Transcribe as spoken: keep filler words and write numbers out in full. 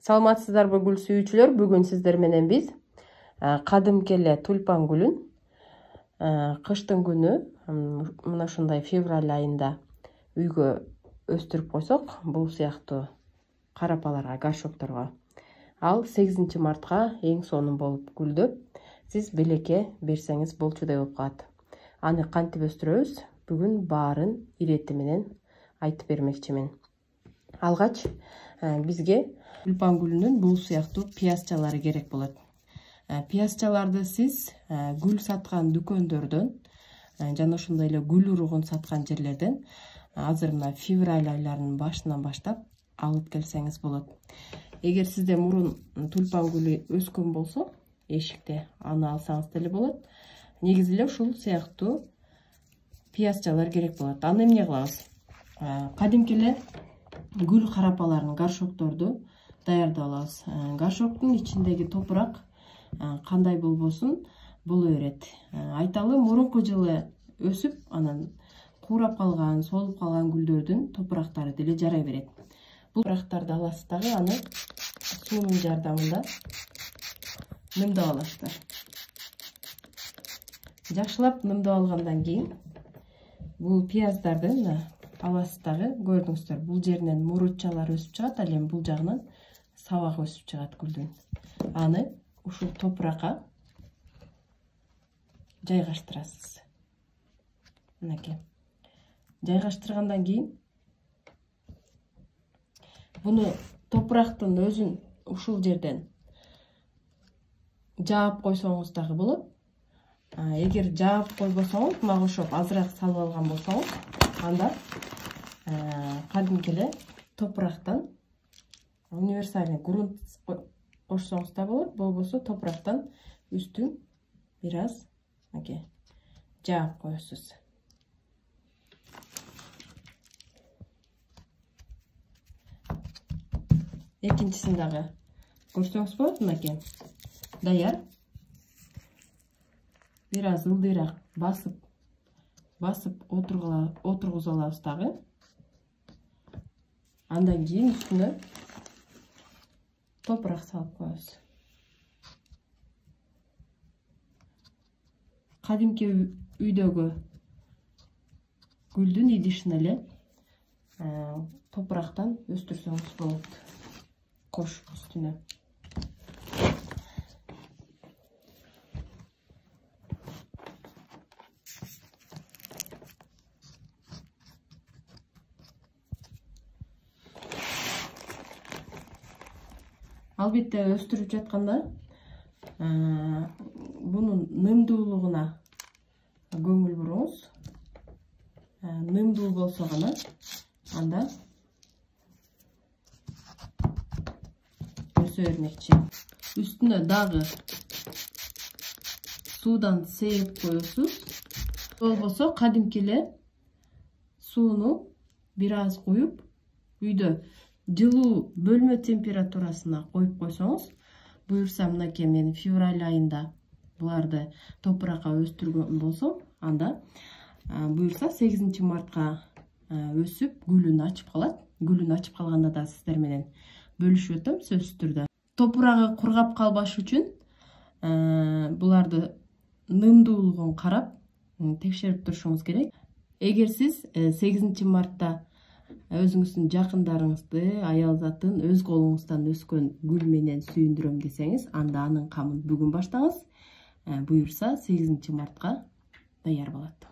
Саламатсыздарбы гүл сүйүүчүлөр? Бүгүн сиздер менен биз кадимки эле тюльпан гүлүн кыштын күнү мына ушундай февраль айында үйгө өстүрүп койсок, бул сыяктуу карапаларга, горшокторго, ал сегизинчи мартка эң сонун болуп гүлдөп, сиз белекке берсеңиз болчудай болуп калат. Аны кантип өстүрөбүз? Бүгүн баарын ирети менен айтып бермекчимин. Алгач бизге тюльпан гүлүнүн бул сыяктуу пиязчалары керек болот. Пиязчаларды сиз гүл саткан дүкөндөрдөн жана ошондой эле гүл уругун саткан жерлерден азыр мына февраль айларынын башынан баштап алып келсеңиз болот. Эгер сизде мурун тюльпан гүлү өскөн болсо, эшикте аны алсаңыз деле болот. Негизи эле ушул сыяктуу пиязчалар керек болот. Аны эмне кылабыз? Кадимки эле гүл карапаларын, горшокторду даярдап алабыз. Горшоктун ичиндеги топурак кандай болбосун боло берет. Айталы, мурунку жылы өсүп, анан куурап калган, солуп калган гүлдөрдүн топурактары деле жарай берет. Бул топурактарды аласыз дагы, аны суунун жардамында нымдап аласыздар. Жакшылап нымдап алгандан кийин бул пияздарды аласыз дагы, көрдүңүздөр, бул жеринен мурутчалар өсүп чыгат, ал эми бул жагынан сабак өсүп чыгат гүлдүн. Аны ушул топуракка жайгаштырасыз. Мынакей. Жайгаштыргандан кийин буну топурактын өзүн ушул жерден жаап койсоңуз дагы болот. Эгер жаап койбосоңуз, мага окшоп азыраак салып алган болсоңуз, анда кадимки эле топурактан универсальный грунт кошсоңуз да болот, болбосо топурактан үстүн бир аз мынакей жаап коесуз. Экинчисин дагы көрсөңүз болот, мынакей даяр. Бир аз ылдыйраак басып басып отургузуп алабыз дагы. Андан кийин үстүнө топурак салып коебуз. Кадимки үйдөгү гүлдүн идишин эле топурактан өстүрсөңүз болот. Кош үстүнө. Албетте өстүрүп жатканда бунун нымдуулугуна көңүл буруңуз. Нымдуу болсо гана анда өсө бермекчи. Үстүнө дагы суудан сээп коесуз. Болбосо кадимки эле сууну бир аз куюп, үйдө жылуу бөлмө температурасына коюп койсоңуз, буюрса мынакей мен февраль айында буларды топуракка өстүргөн болсом, анда буюрса сегизинчи мартка өсүп, гүлүн ачып калат. Гүлүн ачып калганда да сиздер менен бөлүшүп өтөм сөзсүз түрдө. Топурагы кургап калбаш үчүн буларды нымдуулугун карап текшерип турушуңуз керек. Эгер сиз сегизинчи мартта өзүңүздүн жакындарыңызды, аял затын өз колуңуздан өскөн гүл менен сүйүндүрөм десеңиз, анда анын камын бүгүн баштаңыз. Буюрса сегизинчи мартка даяр болот.